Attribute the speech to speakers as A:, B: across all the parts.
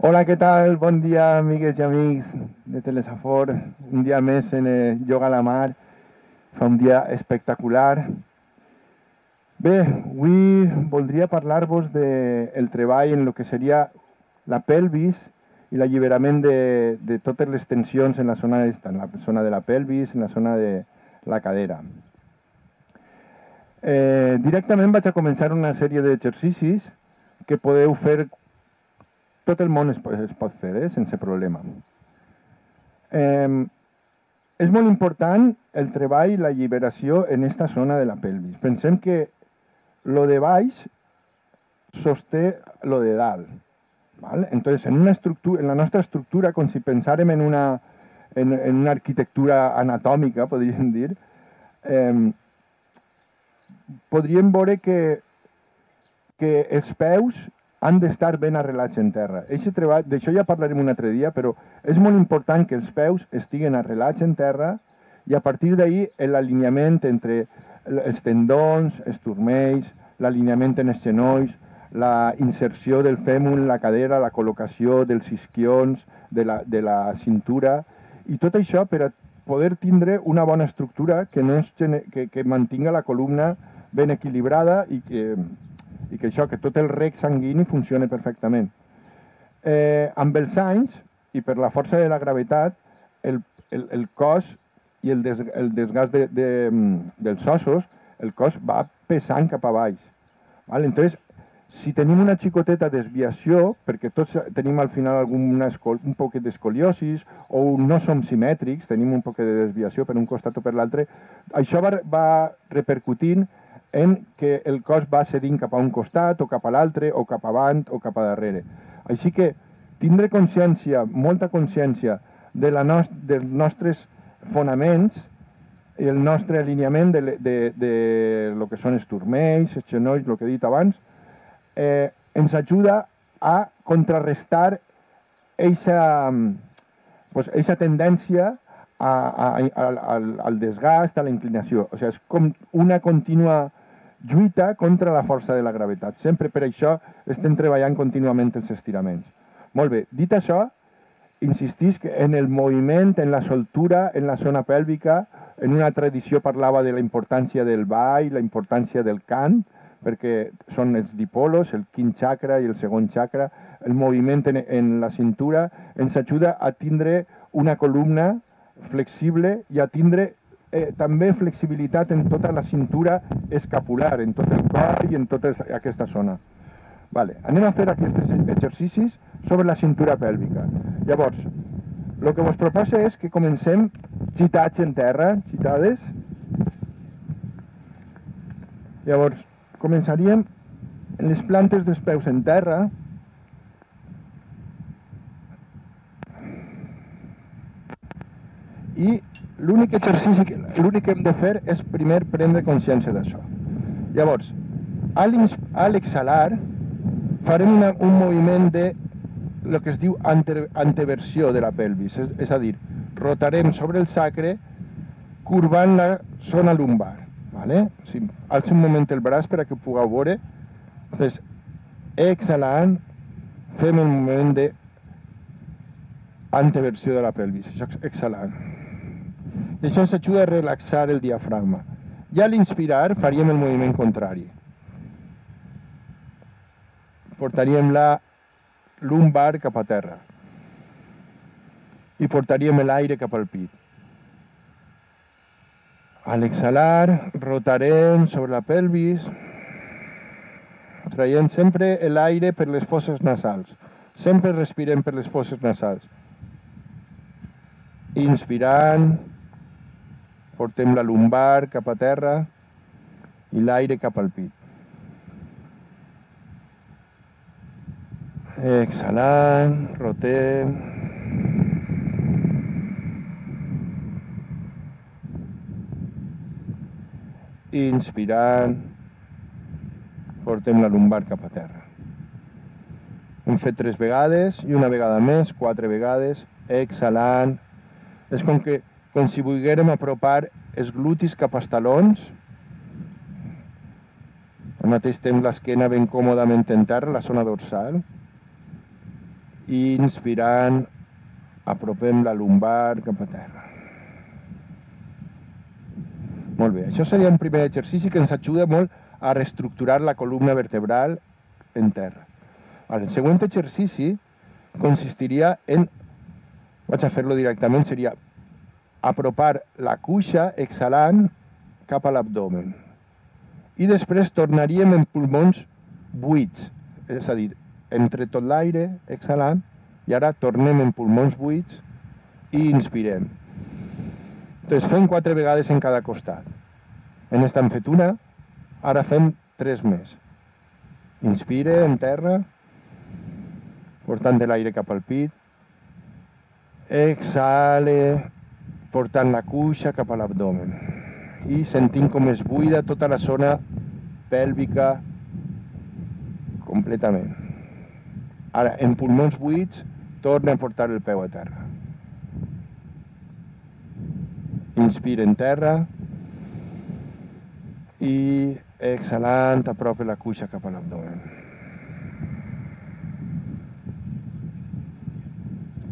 A: Hola, ¿qué tal? Bon dia, amigues i amics de Telesafor. Un dia més en Yoga a la Mar. Fa un dia espectacular. Bé, avui voldria parlar-vos del treball en el que seria la pelvis i l'alliberament de totes les tensions en la zona de la pelvis, en la zona de la cadera. Directament vaig a començar una sèrie d'exercicis que podeu fer, tot el món es pot fer, sense problema. És molt important el treball i l'alliberació en aquesta zona de la pelvis. Pensem que lo de baix sosté lo de dalt. ¿Vale? Entonces, en la nostra estructura, com si pensàrem en una arquitectura anatòmica, podríem dir, podríem veure que els peus han d'estar ben arrelats en terra. D'això ja parlarem un altre dia, però és molt important que els peus estiguen arrelats en terra i a partir d'ahir l'alineament entre els tendons, els turmells, l'alineament en els genolls, la inserció del fèmur en la cadera, la col·locació dels isquions, de la cintura, i tot això per a poder tindre una bona estructura que mantinga la columna ben equilibrada i que tot el rec sanguini funcioni perfectament. Amb els anys, i per la força de la gravetat, el cos i el desgast dels ossos, el cos va pesant cap a baix. Entonces, si tenim una xicoteta desviació, perquè tots tenim al final un poc d'escoliosis o no som simètrics, tenim un poc de desviació per un costat o per l'altre, això va repercutint en que el cos va cedint cap a un costat o cap a l'altre o cap avant o cap a darrere. Així que tindre consciència, molta consciència dels nostres fonaments i el nostre alineament de lo que són els turmells, els genolls, el que he dit abans, ens ajuda a contrarrestar aquesta tendència al desgast, a la inclinació. O sigui, és com una contínua lluita contra la força de la gravetat. Sempre per això estem treballant contínuament els estiraments. Molt bé, dit això, insistís que en el moviment, en la soltura, en la zona pèlvica, en una tradició parlava de la importància del ball, la importància del cant, perquè són els dipolos, el quint chakra i el segon chakra. El moviment en la cintura ens ajuda a tindre una columna flexible i a tindre també flexibilitat en tota la cintura escapular, en tot el coll i en tota aquesta zona. Anem a fer aquests exercicis sobre la cintura pèlvica. Llavors, el que vos proposo és que comencem gitats en terra, gitades. Llavors, començaríem en les plantes dels peus en terra. I l'únic exercici, l'únic que hem de fer és primer prendre consciència d'això. Llavors, a l'exhalar farem un moviment de el que es diu anteversió de la pelvis, és a dir, rotarem sobre el sacre curvant la zona lumbar. Alça un moment el braç per a que ho pugueu veure. Entonces, exhalant, fem el moviment d'anteversió de la pelvis, exhalant. I això ens ajuda a relaxar el diafragma. I a l'inspirar faríem el moviment contrari. Portaríem la lumbar cap a terra i portaríem l'aire cap al pit. A l'exhalar, rotarem sobre la pelvis, traient sempre l'aire per les fosses nasals. Sempre respirem per les fosses nasals. Inspirant, portem la lumbar cap a terra i l'aire cap al pit. Exhalant, rotem. Inspirant, portem la lumbar cap a terra. Hem fet 3 vegades i una vegada més, 4 vegades, exhalant. És com si volguérem apropar els glutis cap als talons. Al mateix temps l'esquena ben còmodament en terra, la zona dorsal. I inspirant, apropem la lumbar cap a terra. Molt bé, això seria un primer exercici que ens ajuda molt a reestructurar la columna vertebral en terra. El següent exercici consistiria en, vaig a fer-lo directament, seria apropar la cuixa exhalant cap a l'abdomen. I després tornaríem en pulmons buits, és a dir, entre tot l'aire exhalant, i ara tornem en pulmons buits i inspirem. Entonces fem 4 vegades en cada costat. En esta hem fet una, ara fem 3 més. Inspire en terra, portant l'aire cap al pit. Exhale, portant la cuixa cap a l'abdomen. I sentint com es buida tota la zona pèlvica completament. Ara, en pulmons buits, torna a portar el peu a terra. Inspira en terra i exhalant apropa la cuixa cap a l'abdomen.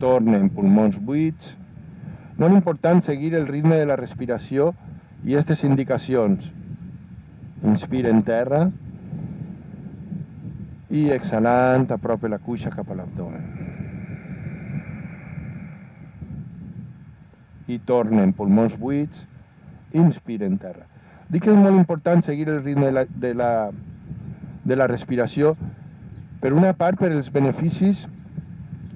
A: Torna en pulmons buits. Molt important seguir el ritme de la respiració i aquestes indicacions. Inspira en terra i exhalant apropa la cuixa cap a l'abdomen. I torna en pulmons buits, inspira en terra. Dic que és molt important seguir el ritme de la respiració, per una part per els beneficis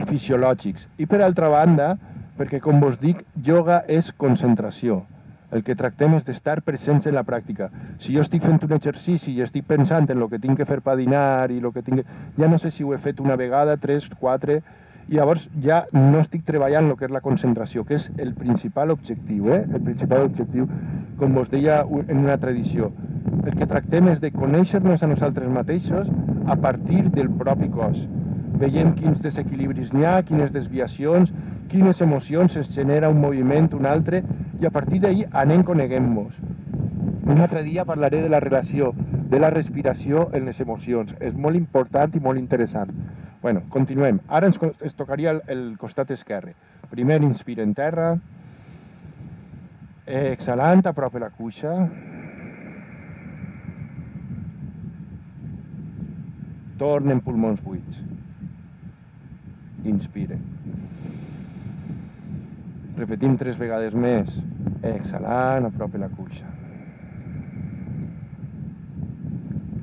A: fisiològics i per altra banda perquè, com vos dic, yoga és concentració. El que tractem és d'estar presents en la pràctica. Si jo estic fent un exercici i estic pensant en el que tinc que fer per dinar i el que tinc... ja no sé si ho he fet una vegada, 3, 4... i llavors ja no estic treballant el que és la concentració, que és el principal objectiu, El principal objectiu, com vos deia en una tradició. El que tractem és de conèixer-nos a nosaltres mateixos a partir del propi cos. Veiem quins desequilibris n'hi ha, quines desviacions, quines emocions es genera un moviment, un altre, i a partir d'ahir anem coneguent-nos. Un altre dia parlaré de la relació de la respiració en les emocions. És molt important i molt interessant. Bueno, continuem. Ara ens tocaria el costat esquerre. Primer inspira en terra, exhalant, apropa la cuixa. Torna en pulmons buits. Inspire. Repetim 3 vegades més. Exhalant, apropa la cuixa.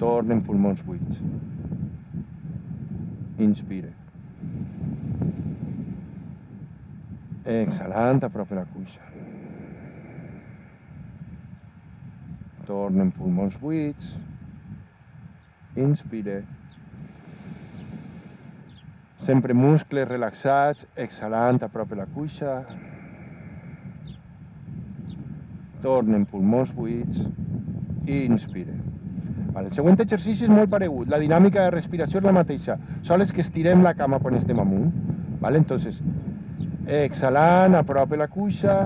A: Torna en pulmons buits. Inspire. Exhalant, apropa la cuixa. Torna en pulmons buits. Inspire. Sempre muscles relaxats, exhalant, apropa la cuixa. Torna en pulmons buits i inspire. El següent exercici és molt paregut. La dinàmica de respiració és la mateixa. Sol és que estirem la cama quan estem amunt. Entonces, exhalant, apropa la cuixa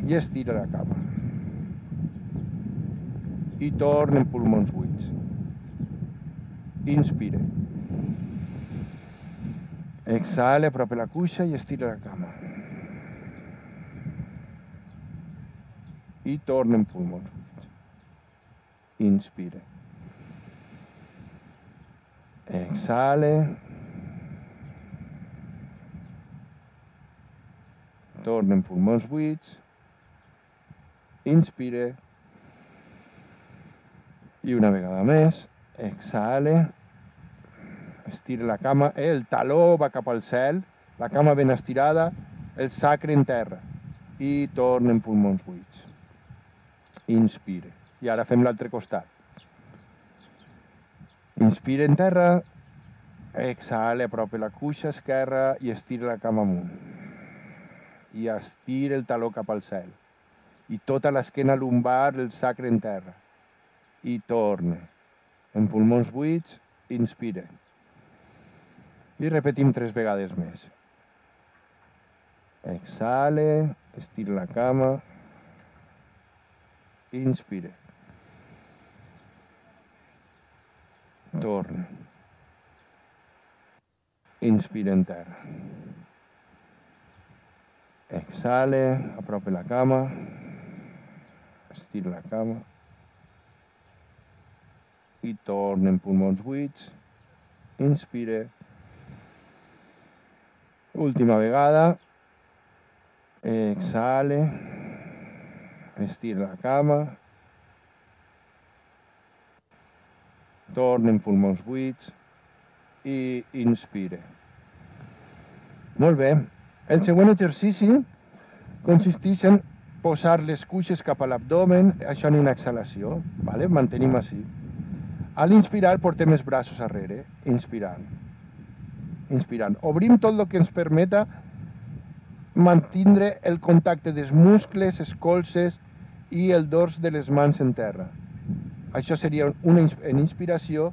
A: i estira la cama. I torna en pulmons buits. Inspire. Exhala, apropa la cuixa i estira la cama. I torna en pulmons buits. Inspire. Exhale. Torna en pulmons buits. Inspire. I una vegada més. Exhale. Estira la cama. El taló va cap al cel. La cama ben estirada. El sacre en terra. I torna en pulmons buits. Inspire. I ara fem l'altre costat. Inspira en terra, exhala, apropa la cuixa esquerra i estira la cama amunt. I estira el taló cap al cel. I tota l'esquena lumbar, el sacre en terra. I torna. En pulmons buits, inspira. I repetim 3 vegades més. Exhala, estira la cama. Inspira. Torna. Inspira en terra. Exhale, apropa la cama, estira la cama i torna en pulmons buits. Inspire. Última vegada. Exhale, estira la cama, torna en pulmons buits i inspire. Molt bé. El següent exercici consisteix en posar les cuixes cap a l'abdomen, això en una exhalació, ¿vale? Mantenim així. A l'inspirar portem els braços darrere, inspirant. Inspirant. Obrim tot el que ens permeta mantindre el contacte dels muscles, els colzes i el dors de les mans en terra. Això seria en inspiració,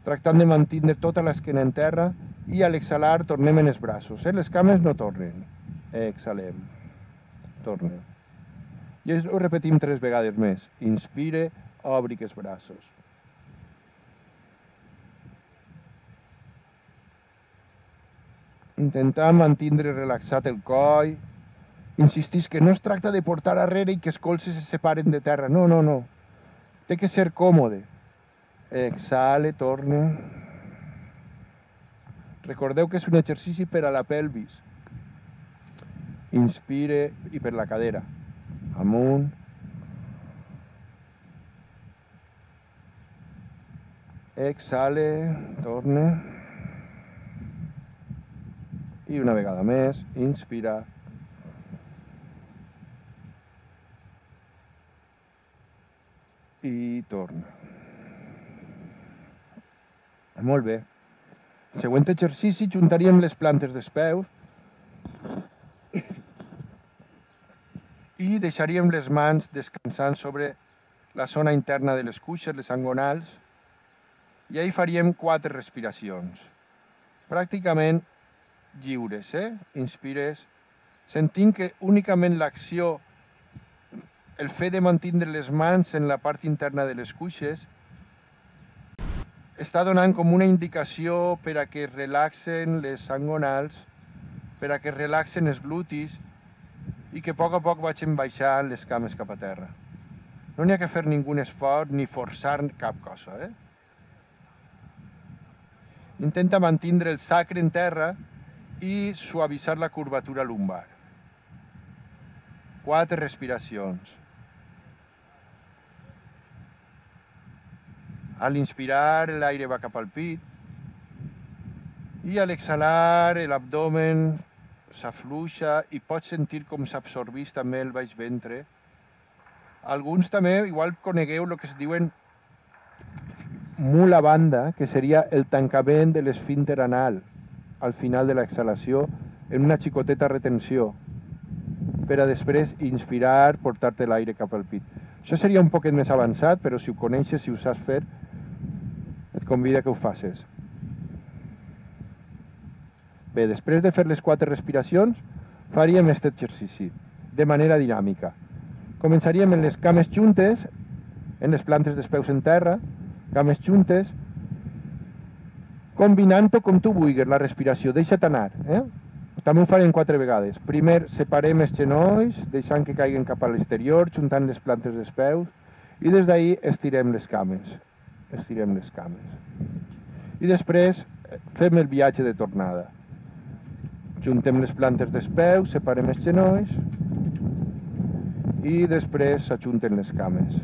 A: tractant de mantindre tota l'esquena en terra, i a l'exhalar tornem en els braços. Les cames no tornen. Exhalem. Tornem. I ho repetim 3 vegades més. Inspire, obri els braços. Intentar mantindre relaxat el coll. Insistís que no es tracta de portar darrere i que els colzes se separen de terra. No, no, no. Té que ser còmode. Exhale, torna. Recordeu que és un exercici per a la pelvis. Inspire i per la cadera. Amunt. Exhale, torna. I una vegada més, inspira. I torna. Molt bé. Següent exercici, juntaríem les plantes dels peus i deixaríem les mans descansant sobre la zona interna de les cuixes, les angonals, i ahí faríem 4 respiracions. Pràcticament lliures, Inspires, sentint que únicament l'acció, el fet de mantindre les mans en la part interna de les cuixes, està donant com una indicació per a que es relaxen les angonals, per a que es relaxen els glutis i que a poc vagin baixant les cames cap a terra. No n'hi ha que fer ningú esforç ni forçar cap cosa. Intenta mantindre el sacre en terra i suavitzar la curvatura lumbar. 4 respiracions. A l'inspirar, l'aire va cap al pit i a l'exhalar, l'abdomen s'afluixa i pots sentir com s'absorbeix també el baix ventre. Alguns també, igual conegueu el que es diuen mula banda, que seria el tancament de l'esfínter anal al final de l'exhalació en una xicoteta retenció per a després inspirar, portar-te l'aire cap al pit. Això seria un poquet més avançat, però si ho coneixes, si ho saps fer, et convida que ho facis. Bé, després de fer les 4 respiracions, faríem aquest exercici de manera dinàmica. Començaríem en les cames juntes, en les plantes dels peus en terra, cames juntes, combinant-ho com tu vulguis, la respiració, deixa't anar. També ho farem 4 vegades. Primer separem els genolls, deixant que caiguen cap a l'exterior, juntant les plantes dels peus, i des d'ahí estirem les cames. Estirem les cames. I després fem el viatge de tornada. Juntem les plantes dels peus, separem els genolls i després s'ajunten les cames.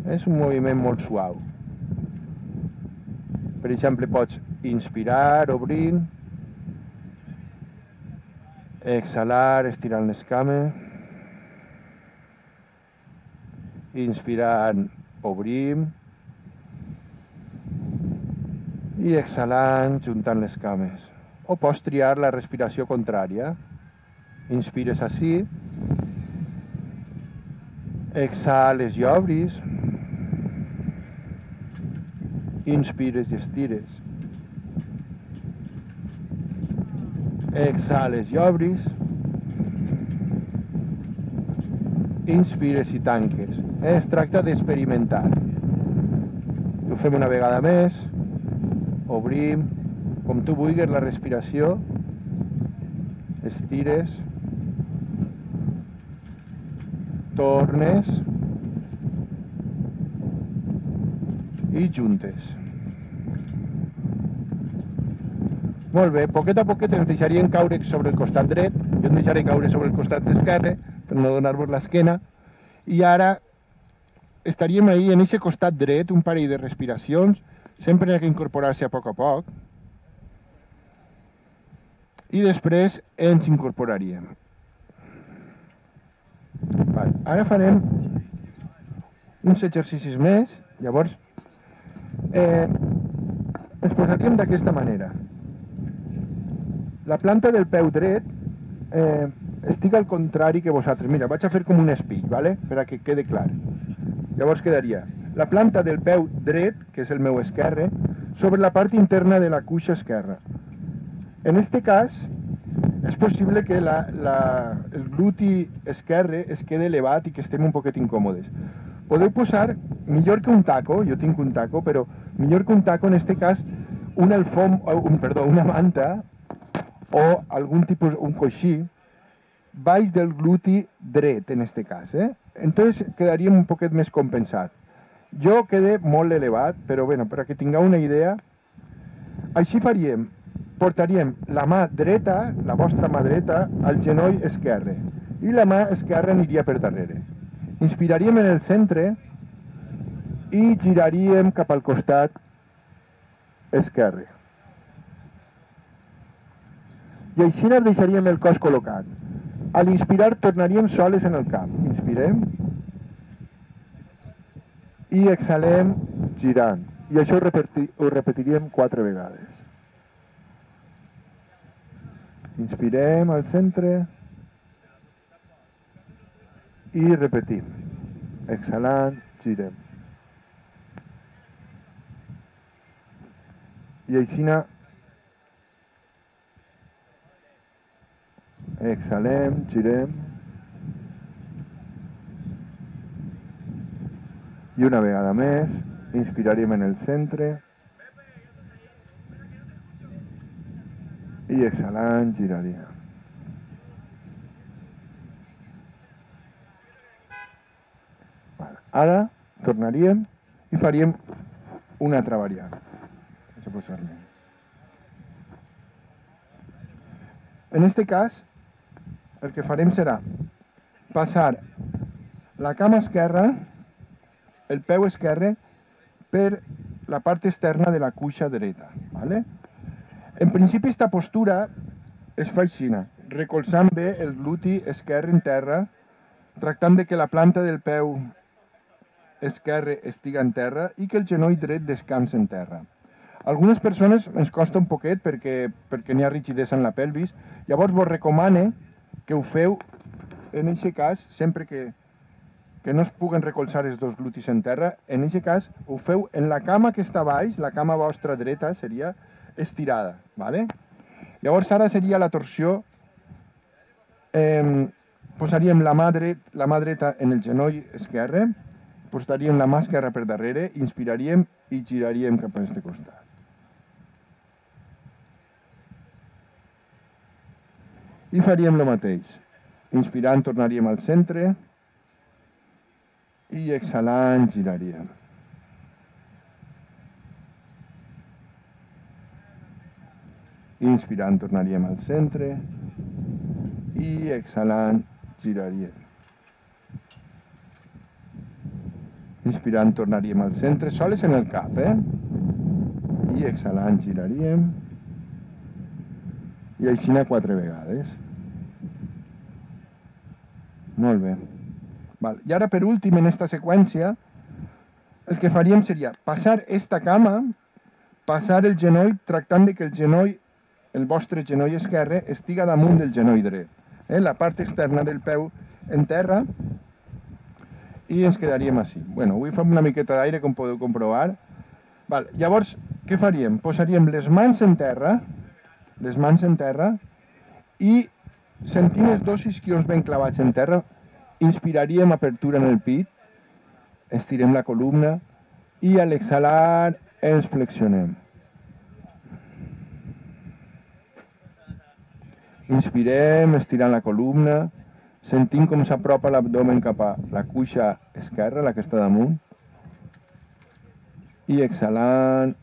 A: És un moviment molt suau. Per exemple, pots inspirar, obrint, exhalar, estirant les cames, inspirant, obrim, i exhalant, juntant les cames. O pots triar la respiració contrària. Inspires així, exhales i obris, inspires i estires, exhales i obris, inspires i tanques. Es tracta d'experimentar. Ho fem una vegada més, obrim, com tu vulguis la respiració, estires, tornes i juntes. Molt bé, poquet a poquet ens deixarien caure sobre el costat dret, jo em deixaré caure sobre el costat esquerre per no donar-vos l'esquena, i ara estaríem ahí en aquest costat dret, un parell de respiracions, sempre hi ha que incorporar-se a poc, i després ens incorporaríem. Vale. Ara farem uns exercicis més, llavors ens posaríem d'aquesta manera. La planta del peu dret estic al contrari que vosaltres. Mira, vaig a fer com un espill, ¿vale? Per a que quede clar. Llavors quedaria la planta del peu dret, que és el meu esquerre, sobre la part interna de la cuixa esquerra. En este cas, és possible que el gluti esquerre es quede elevat i que estem un poquet incòmodes. Podeu posar, millor que un taco, jo tinc un taco, però millor que un taco, en este cas, una manta o algun tipus, un coixí, baix del gluti dret, en este cas. Entonces quedaríem un poquet més compensat. Jo quedé molt elevat, però bueno, per a que tingueu una idea, així faríem. Portaríem la mà dreta, la vostra mà dreta, al genoll esquerre i la mà esquerra aniria per darrere. Inspiraríem en el centre i giraríem cap al costat esquerre. I així ens deixaríem el cos col·locat. A l'inspirar tornaríem soles en el cap. Inspirem i exhalem girant. I això ho repetiríem 4 vegades. Inspirem al centre i repetim. Exhalant, girem. I així exhalem, girem. I una vegada més, inspiraríem en el centre. I exhalant, giraríem. Ara tornaríem i faríem una altra variant. Vaig a posar-me. En este cas, el que farem serà passar la cama esquerra, el peu esquerre, per la part externa de la cuixa dreta. ¿Vale? En principi, aquesta postura es fa així, recolzant bé el gluti esquerre en terra, tractant de que la planta del peu esquerre estiga en terra i que el genoll dret descansi en terra. Algunes persones ens costa un poquet perquè n'hi ha rigidesa en la pelvis, llavors vos recomane que ho feu, en aquest cas, sempre que no es puguen recolzar els dos glutis en terra, en aquest cas ho feu en la cama que està baix, la cama vostra dreta seria estirada, ¿vale? Llavors ara seria la torsió, posaríem la mà dreta en el genoll esquerre, posaríem la mà esquerra per darrere, inspiraríem i giraríem cap a aquest costat. I faríem el mateix. Inspirant tornaríem al centre i exhalant giraríem. Inspirant tornaríem al centre i exhalant giraríem. Inspirant tornaríem al centre, soles en el cap, i exhalant giraríem. I així 4 vegades. Molt bé. I ara, per últim, en aquesta seqüència, el que faríem seria passar esta cama, passar el genoll, tractant de que el genoll, el vostre genoll esquerre, estiga damunt del genoll dret. La part externa del peu en terra, i ens quedaríem així. Bueno, avui fem una miqueta d'aire, com podeu comprovar. Llavors, què faríem? Posaríem les mans en terra, i sentint els dos isquions ben clavats en terra, inspiraríem apertura en el pit, estirem la columna i a l'exhalar ens flexionem. Inspirem, estirant la columna, sentint com s'apropa l'abdomen cap a la cuixa esquerra, la que està damunt, i exhalant,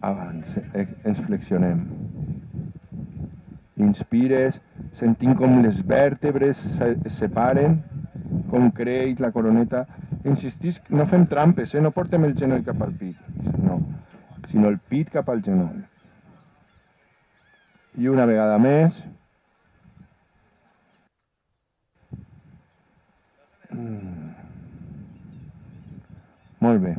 A: abans, ens flexionem. Inspires, sentint com les vèrtebres es separen, com creix la coroneta. Insistís, no fem trampes, no portem el genoll cap al pit, no, sinó el pit cap al genoll. I una vegada més. Molt bé.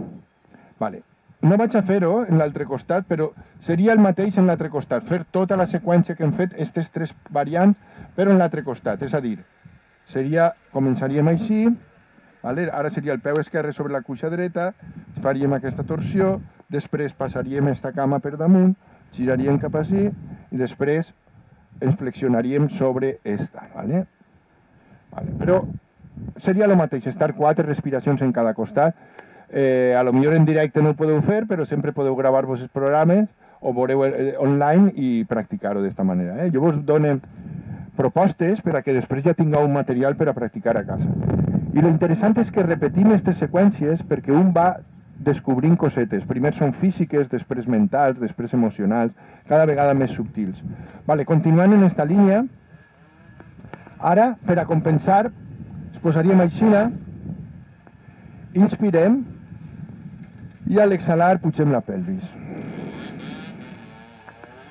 A: Vale. No vaig a fer-ho en l'altre costat, però seria el mateix en l'altre costat. Fer tota la seqüència que hem fet, aquestes tres variants, però en l'altre costat. És a dir, començaríem així, vale? Ara seria el peu esquerre sobre la cuixa dreta, faríem aquesta torsió, després passaríem aquesta cama per damunt, giraríem cap així, i després ens flexionaríem sobre esta. Vale? Vale. Però seria el mateix, estar 4 respiracions en cada costat. A lo millor en directe no ho podeu fer, però sempre podeu gravar-vos els programes o veureu online i practicar-ho d'esta manera. Jo vos dono propostes per a que després ja tingueu un material per a practicar a casa. I lo interessant és que repetim aquestes seqüències perquè un va descobrint cosetes. Primer són físiques, després mentals, després emocionals, cada vegada més subtils. Vale, continuant en aquesta línia, ara, per a compensar, ens posaríem així, inspirem, i a l'exhalar pugem la pelvis.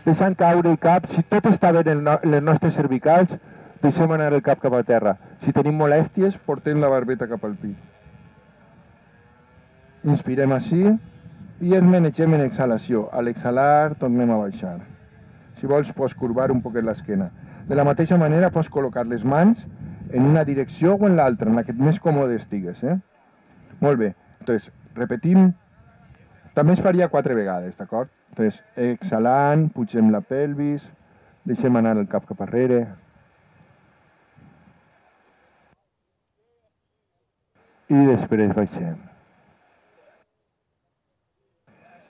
A: Deixant caure el cap, si tot està bé en les nostres cervicals, deixem anar el cap cap a terra. Si tenim molèsties, portem la barbeta cap al pit. Inspirem així i ens manegem en exhalació. A l'exhalar tornem a baixar. Si vols, pots curvar un poquet l'esquena. De la mateixa manera, pots col·locar les mans en una direcció o en l'altra, en la que més còmode estigues. Molt bé. Entonces, repetim. També es faria 4 vegades, d'acord? Entonces, exhalant, pugem la pelvis, deixem anar el cap cap arrere. I després baixem.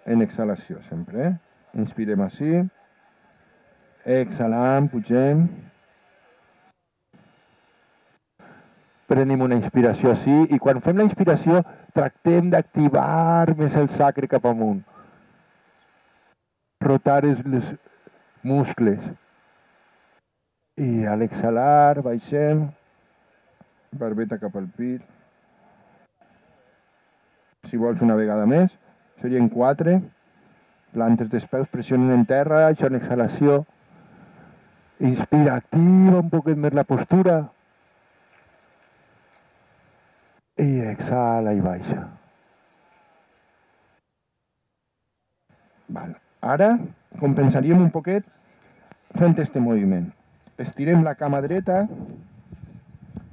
A: En exhalació, sempre. Inspirem així. Exhalant, pugem. Prenem una inspiració així i quan fem la inspiració tractem d'activar més el sacre cap amunt. Rotar els muscles. I a l'exhalar baixem. Barbeta cap al pit. Si vols una vegada més, serien 4. Plantes dels peus, pressionen en terra, això en exhalació. Inspira, activa un poquet més la postura. I exhala i baixa. Val. Ara compensaríem un poquet fent aquest moviment. Estirem la cama dreta,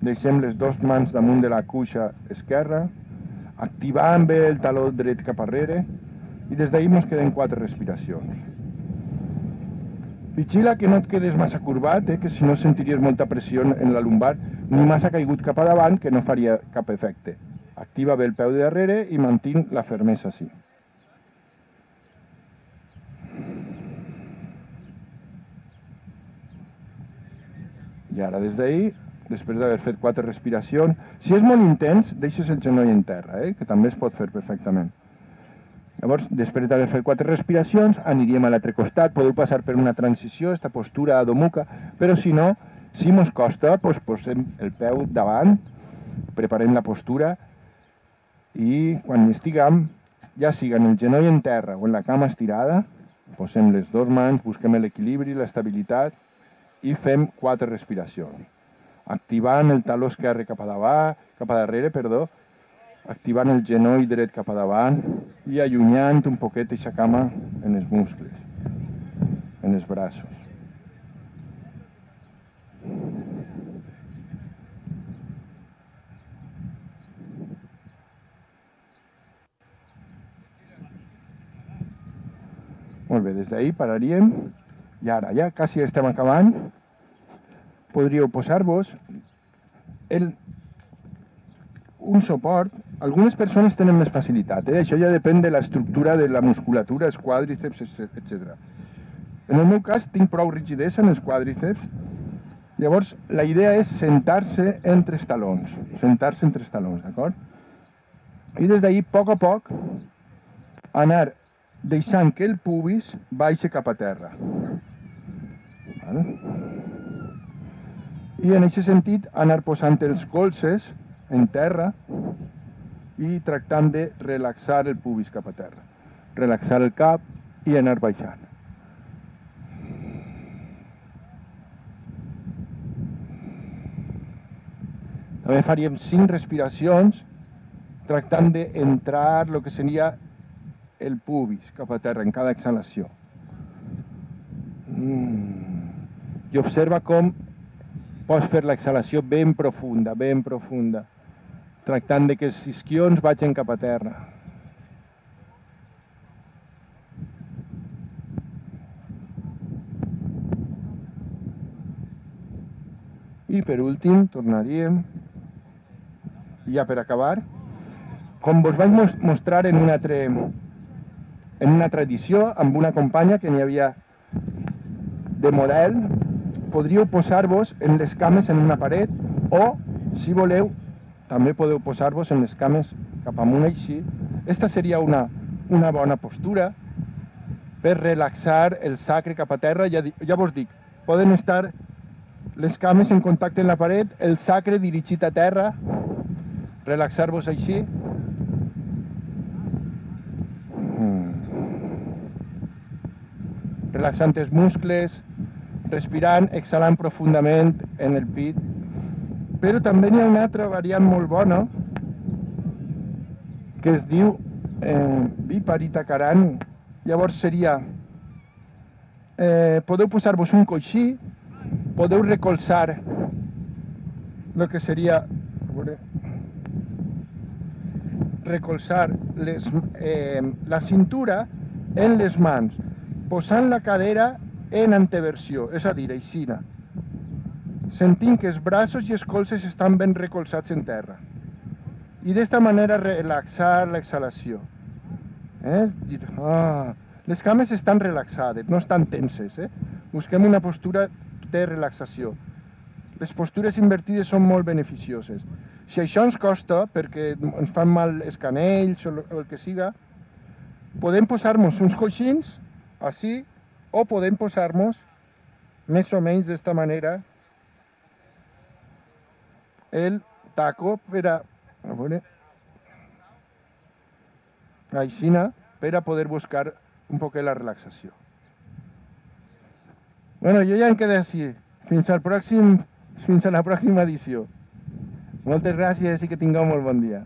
A: deixem les 2 mans damunt de la cuixa esquerra, activant bé el taló dret cap arrere i des d'ahir ens queden 4 respiracions. Vigila que no et quedes massa curvat, que si no sentiries molta pressió en la lumbar, ni massa caigut cap a davant, que no faria cap efecte. Activa bé el peu de darrere i mantén la fermesa així. I ara des d'ahir, després d'haver fet 4 respiracions, si és molt intens, deixes el genoll en terra, que també es pot fer perfectament. Llavors, després d'haver fet 4 respiracions, aniríem a l'altre costat, podeu passar per una transició, aquesta postura Adho Mukha, però si no, si mos costa, doncs posem el peu davant, preparem la postura i quan estiguem, ja siga en el genoll en terra o en la cama estirada, posem les 2 mans, busquem l'equilibri, l'estabilitat i fem 4 respiracions. Activant el taló esquerre cap a darrere, activant el genoll dret cap a davant i allunyant un poquet aquesta cama en els muscles, en els braços. Molt bé, des d'ahir pararíem i ara ja quasi estem acabant. Podríeu posar-vos un suport. Algunes persones tenen més facilitat, això ja depèn de l'estructura de la musculatura, els quàdriceps, etc. En el meu cas tinc prou rigidesa en els quàdriceps Llavors, la idea és sentar-se entre talons, d'acord? I des d'ahir, a poc, anar deixant que el pubis baixi cap a terra. Vale? I en aquest sentit, anar posant els colzes en terra i tractant de relaxar el pubis cap a terra. Relaxar el cap i anar baixant. També faríem 5 respiracions tractant d'entrar el que seria el pubis cap a terra en cada exhalació. I observa com pots fer l'exhalació ben profunda, tractant de que els isquions vagin cap a terra. I per últim, tornaríem, ja per acabar, com vos vaig mostrar en una altra edició, amb una companya que n'hi havia de model, podríeu posar-vos en les cames en una paret o, si voleu, també podeu posar-vos en les cames cap amunt així. Esta seria una bona postura per relaxar el sacre cap a terra. Ja vos dic, poden estar les cames en contacte amb la paret, el sacre dirigit a terra, relaxar-vos així. Relaxant els muscles, respirant, exhalant profundament en el pit. Però també n'hi ha una altra variant molt bona que es diu Viparita Karani. Llavors seria, podeu posar-vos un coixí, podeu recolzar el que seria, recolzar la cintura en les mans, posant la cadera en anteversió, és a dir, aixina, sentint que els braços i els colzes estan ben recolzats en terra. I d'esta manera relaxar l'exhalació. Les cames estan relaxades, no estan tenses. Busquem una postura de relaxació. Les postures invertides són molt beneficioses. Si això ens costa, perquè ens fan mal els canells o el que siga, podem posar-nos uns coixins, així, o podem posar-nos més o menys d'esta manera el taco per a aixina, per a poder buscar un poc la relaxació. Bueno, jo ja em quedo així. Fins a la pròxima edició. Moltes gràcies i que tingueu molt bon dia.